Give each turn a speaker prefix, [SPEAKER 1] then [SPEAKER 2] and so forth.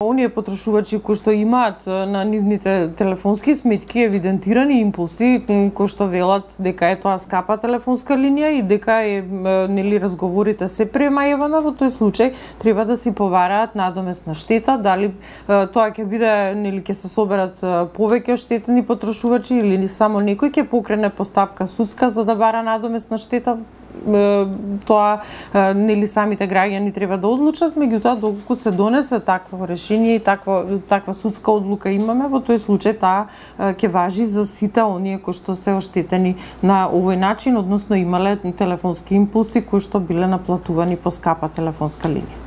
[SPEAKER 1] Оние потрошувачи кои што имаат на нивните телефонски сметки евидентирани импулси кои што велат дека е тоа скапа телефонска линија и дека нели разговорите се премаевана, во тој случај треба да си повараат надоместна штета, дали тоа ќе биде нели ќе се соберат повеќе оштетени потрошувачи или само некој ќе покрене постапка судска за да бара надоместна штета. Тоа нели самите граѓани треба да одлучат, меѓутоа доколку се донесе такво решение и таква судска одлука имаме, во тој случај таа ќе важи за сите оние кои што се оштетени на овој начин, односно имале телефонски импулси кои што биле наплатувани по скапа телефонска линија.